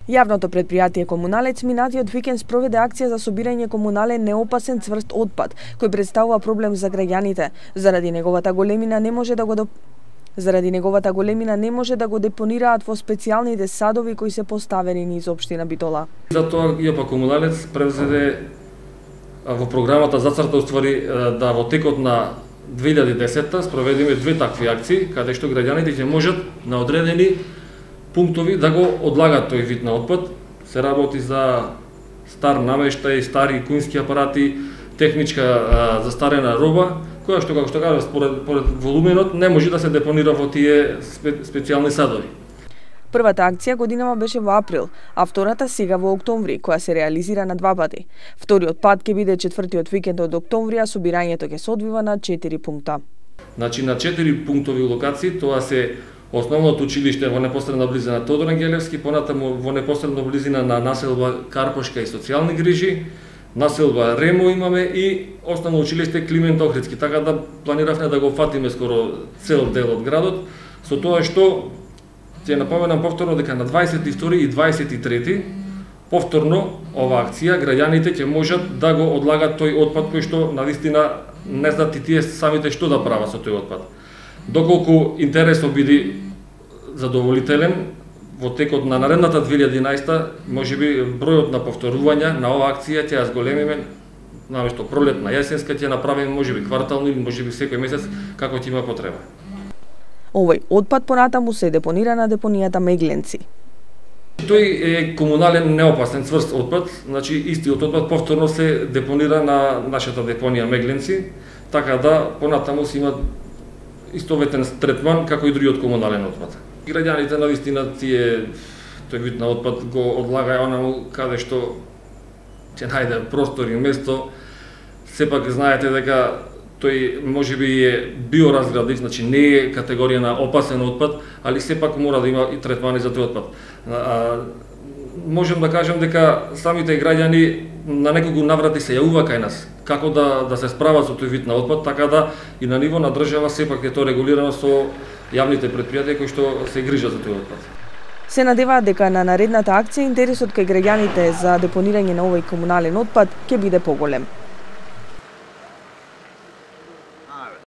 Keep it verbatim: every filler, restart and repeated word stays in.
Јавното предпријатие Комуналец минатиот викенд спроведе акција за собирање комунален неопасен цврст отпад, кој представува проблем за граѓаните. Заради неговата големина не може да го доп... Заради неговата големина не може да го депонираат во специјалните садови кои се поставени низ општина Битола. Затоа ЈП Комуналец превзеде во програмата зацрта уствари да во текот на две илјади и десета спроведеме две такви акции, каде што граѓаните ќе можат на одредени пунктови да го одлагат тој вид на отпад. Се работи за стар намештај, стари куински апарати, техничка а, застарена роба, која што, како што кажа, според, според волуменот не може да се депонира во тие спе, специјални садови. Првата акција годинава беше во април, а втората сега во октомври, која се реализира на два пати. Вториот пат ќе биде четвртиот викенд од октомври, а собирањето ќе се одвива на четири пункта. Значи на четири пунктови локации, тоа се Основното училиште во непосредна близина Тодор Ангелевски, понатаму во непосредна близина на населба Карпошка и социјални грижи, населба Ремо имаме и основно училиште Климент Охридски, така да планиравме да го фатиме скоро цел дел од градот, со тоа што ќе напоменам повторно дека на дваесет и втори и дваесет и трети повторно ова акција граѓаните ќе можат да го одлагат тој отпад кој што навистина не знаат и тие самите што да прават со тој отпад. Доколку интересот биде задоволителен, во текот на наредната две илјади и единаесета, можеби бројот на повторувања на оваа акција ќе ја зголемиме, наместо пролетна, јесенска ќе направиме можеби квартално или можеби секој месец како ќе има потреба. Овој отпад понатаму се депонира на депонијата Мегленци. Тој е комунален неопасен цврст отпад, значи истиот отпад повторно се депонира на нашата депонија Мегленци, така да понатаму се има истоветен третман како и другиот комунален отпад. Граѓаните навистина тие тој вид на отпад го одлагаја онаму каде што ќе најде простор и место. Сепак знаете дека тој можеби е биоразградив, значи не е категорија на опасен отпад, али сепак мора да има и третмани за тој отпад. А, можем да кажем дека самите граѓани на неколку наврати се јавува кај нас како да да се справат со тој вид на отпад, така да и на ниво на држава сепак е тоа регулирано со јавните предпријатија кои што се грижат за тој отпад. Се надеваат дека на наредната акција интересот кај граѓаните за депонирање на овој комунален отпад ќе биде поголем.